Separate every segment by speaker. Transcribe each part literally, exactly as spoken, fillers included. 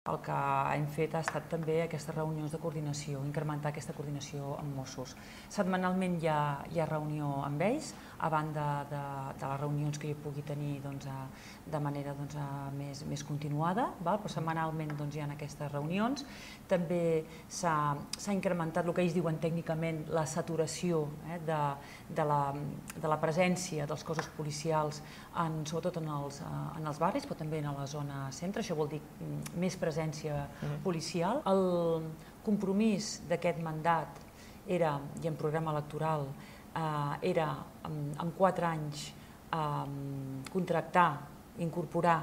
Speaker 1: El que hem fet ha estat també aquestes reunions de coordinació, incrementar aquesta coordinació amb Mossos. Setmanalment hi ha, hi ha reunió amb ells, a banda de, de les reunions que jo pugui tenir doncs, a, de manera doncs, a, més, més continuada, val? Però setmanalment doncs, hi ha aquestes reunions. També s'ha incrementat el que ells diuen tècnicament la saturació eh, de, de, la, de la presència dels cossos policials, en, sobretot en els, en els barris, però també en la zona centre. Això vol dir més presència policial. El compromís d'aquest mandat era, i en programa electoral, eh, era en quatre anys eh, contractar, incorporar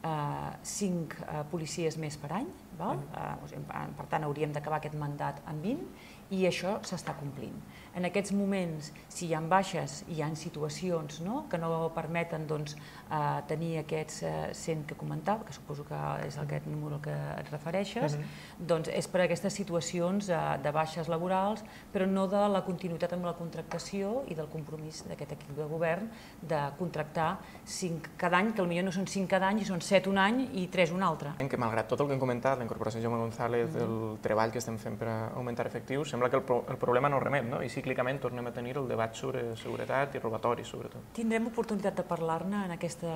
Speaker 1: eh, cinc eh, policies més per any, val? Eh, per tant hauríem d'acabar aquest mandat en vint, i això s'està complint. En aquests moments, si hi ha baixes, hi ha situacions no? que no permeten doncs, eh, tenir aquests eh, cent que comentava, que suposo que és aquest número al que et refereixes, uh-huh. doncs és per aquestes situacions eh, de baixes laborals, però no de la continuïtat amb la contractació i del compromís d'aquest equip de govern de contractar cinc cada any, que potser no són cinc cada any, són set un any i tres un altre.
Speaker 2: Que malgrat tot el que hem comentat, la incorporació de Jaume González, uh-huh. el treball que estem fent per augmentar efectius, sembla que el, pro el problema no remet, no? I cíclicament tornem a tenir el debat sobre seguretat i robatoris, sobretot.
Speaker 1: Tindrem oportunitat de parlar-ne en, aquesta,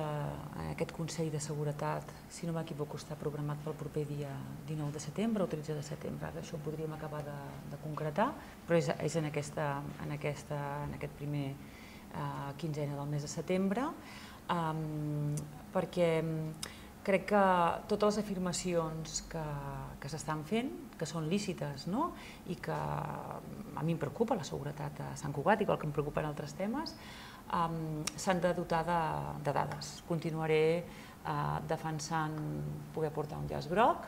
Speaker 1: en aquest Consell de Seguretat, si no m'equivoco està programat pel proper dia dinou de setembre o tretze de setembre, ara això ho podríem acabar de, de concretar, però és, és en, aquesta, en, aquesta, en aquest primer eh, quinzena del mes de setembre, um, perquè crec que totes les afirmacions que, que s'estan fent, que són lícites, no? I que a mi em preocupa la seguretat a Sant Cugat, igual que em preocupen altres temes, um, s'han de dotar de, de dades. Continuaré uh, defensant poder portar un llaç groc,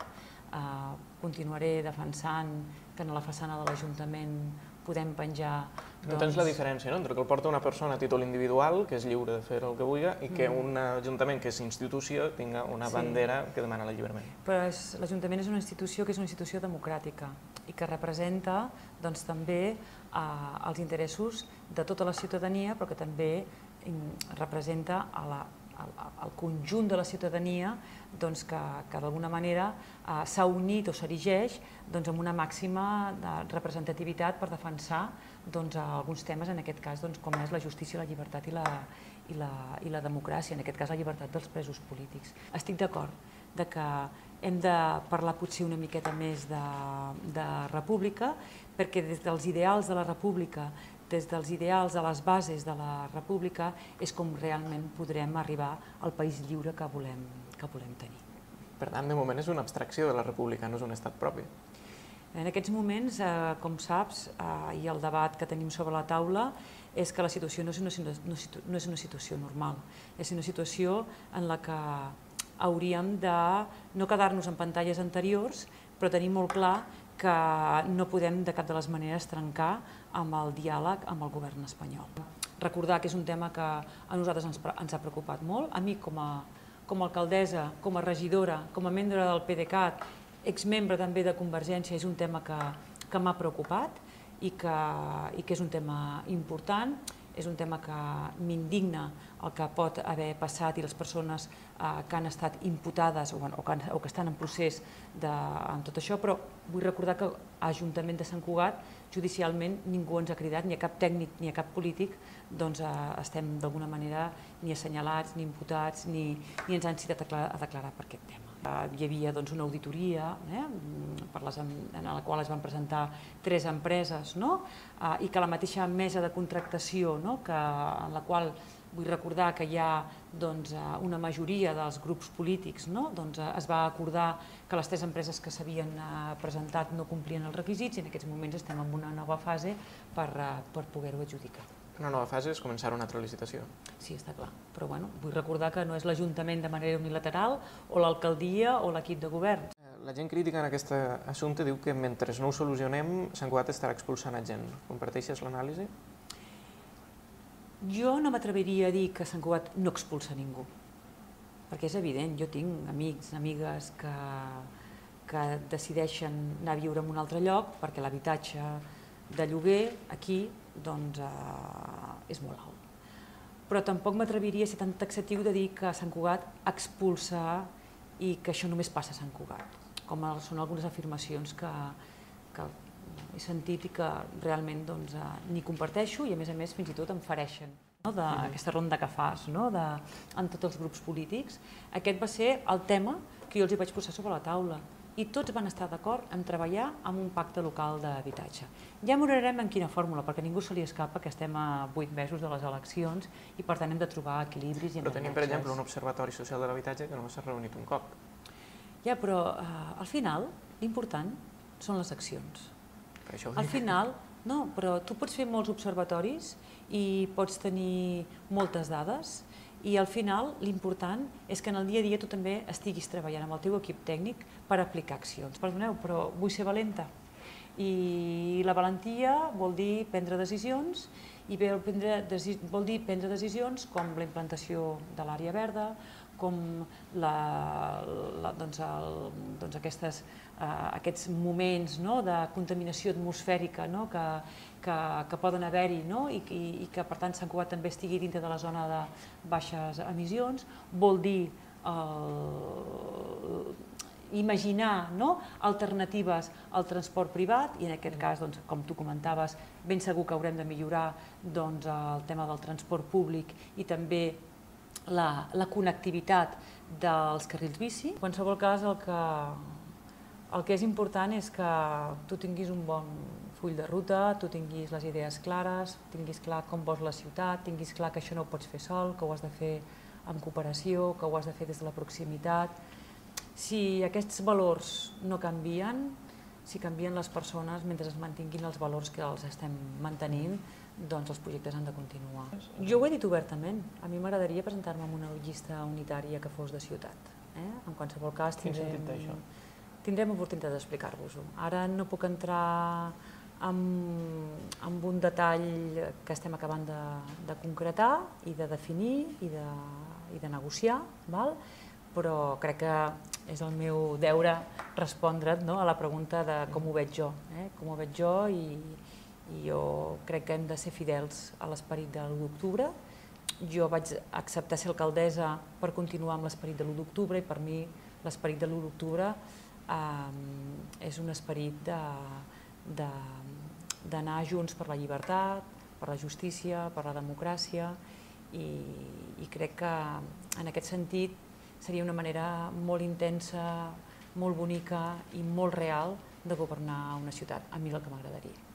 Speaker 1: uh, continuaré defensant que a la façana de l'Ajuntament podem penjar...
Speaker 2: No tens la diferència, no?, entre que el porta una persona a títol individual, que és lliure de fer el que vulgui, i que un ajuntament que és institució tinga una bandera que demana l'alliberament.
Speaker 1: Però l'Ajuntament és una institució que és una institució democràtica i que representa doncs, també eh, els interessos de tota la ciutadania, però que també representa a la el conjunt de la ciutadania doncs, que, que d'alguna manera eh, s'ha unit o s'erigeix doncs, amb una màxima de representativitat per defensar doncs, alguns temes, en aquest cas, doncs, com és la justícia, la llibertat i la, i, la, i la democràcia, en aquest cas la llibertat dels presos polítics. Estic d'acord de que hem de parlar potser una miqueta més de, de república, perquè des dels ideals de la república, des dels ideals de les bases de la república, és com realment podrem arribar al país lliure que volem, que volem tenir.
Speaker 2: Per tant, de moment és una abstracció de la república, no és un estat propi.
Speaker 1: En aquests moments, eh, com saps, eh, i el debat que tenim sobre la taula és que la situació no és una, no és una situació normal, és una situació en la que hauríem de no quedar-nos en pantalles anteriors, però tenir molt clar que no podem de cap de les maneres trencar amb el diàleg amb el govern espanyol. Recordar que és un tema que a nosaltres ens, ens ha preocupat molt, a mi com a, com a alcaldessa, com a regidora, com a membre del PDeCAT, exmembre també de Convergència, és un tema que, que m'ha preocupat i que, i que és un tema important, és un tema que m'indigna el que pot haver passat i les persones eh, que han estat imputades o, bueno, o, que, o que estan en procés de, en tot això, però vull recordar que a l'Ajuntament de Sant Cugat judicialment ningú ens ha cridat, ni a cap tècnic ni a cap polític, doncs eh, estem d'alguna manera ni assenyalats, ni imputats, ni, ni ens han citat a, a declarar per aquest tema. Eh, hi havia doncs, una auditoria eh, per les, en la qual es van presentar tres empreses, no? eh, i que la mateixa mesa de contractació, no? que, en la qual vull recordar que hi ha doncs, una majoria dels grups polítics, no? doncs, es va acordar que les tres empreses que s'havien presentat no complien els requisits i en aquests moments estem en una nova fase per, per poder-ho adjudicar.
Speaker 2: Una nova fase és començar una altra licitació.
Speaker 1: Sí, està clar, però bueno, vull recordar que no és l'Ajuntament de manera unilateral o l'alcaldia o l'equip de govern.
Speaker 2: La gent crítica en aquest assumpte diu que mentre no ho solucionem, Sant Cugat estarà expulsant a gent. Comparteixes l'anàlisi?
Speaker 1: Jo no m'atreviria a dir que Sant Cugat no expulsa ningú, perquè és evident, jo tinc amics, amigues que, que decideixen anar a viure en un altre lloc perquè l'habitatge de lloguer aquí doncs, eh, és molt alt. Però tampoc m'atreviria a ser tan taxatiu de dir que Sant Cugat expulsa i que això només passa a Sant Cugat. com són algunes afirmacions que, que he sentit i que realment doncs, ni comparteixo i a més a més fins i tot em fereixen. No? D'aquesta ronda que fas no? de, en tots els grups polítics. Aquest va ser el tema que jo els hi vaig posar sobre la taula i tots van estar d'acord en treballar en un pacte local d'habitatge. Ja mirarem en quina fórmula, perquè a ningú se li escapa que estem a vuit mesos de les eleccions i per tant hem de trobar equilibris i
Speaker 2: Però tenim, per exemple, un observatori social de l'habitatge que no s'ha reunit un cop.
Speaker 1: Ja, però eh, al final l'important són les accions.
Speaker 2: Per això
Speaker 1: al final, no, però tu pots fer molts observatoris i pots tenir moltes dades i al final l'important és que en el dia a dia tu també estiguis treballant amb el teu equip tècnic per aplicar accions. Perdoneu, però vull ser valenta. I la valentia vol dir prendre decisions i vol dir prendre decisions com la implantació de l'àrea verda, com la, la, doncs el, doncs aquestes, eh, aquests moments no, de contaminació atmosfèrica no, que, que, que poden haver-hi no, i, i, i que per tant Sant Cugat també estigui dintre de la zona de baixes emissions, vol dir el, imaginar no, alternatives al transport privat i en aquest cas, doncs, com tu comentaves, ben segur que haurem de millorar doncs, el tema del transport públic i també La, la connectivitat dels carrils bici. En qualsevol cas, el que, el que és important és que tu tinguis un bon full de ruta, tu tinguis les idees clares, tinguis clar com vols la ciutat, tinguis clar que això no ho pots fer sol, que ho has de fer en cooperació, que ho has de fer des de la proximitat. Si aquests valors no canvien, si canvien les persones, mentre es mantinguin els valors que els estem mantenint, doncs els projectes han de continuar. Jo ho he dit obertament, a mi m'agradaria presentar-me amb una llista unitària que fos de ciutat. Eh? En qualsevol cas tindrem, tindrem oportunitat d'explicar-vos-ho. Ara no puc entrar en, en un detall que estem acabant de, de concretar i de definir i de, i de negociar, val? Però crec que és el meu deure respondre't no? a la pregunta de com ho veig jo, eh? com ho veig jo i i jo crec que hem de ser fidels a l'esperit de l'u d'octubre. Jo vaig acceptar ser alcaldessa per continuar amb l'esperit de l'u d'octubre i per mi l'esperit de l'u d'octubre eh, és un esperit d'anar junts per la llibertat, per la justícia, per la democràcia i, i crec que en aquest sentit seria una manera molt intensa, molt bonica i molt real de governar una ciutat. A mi és el que m'agradaria.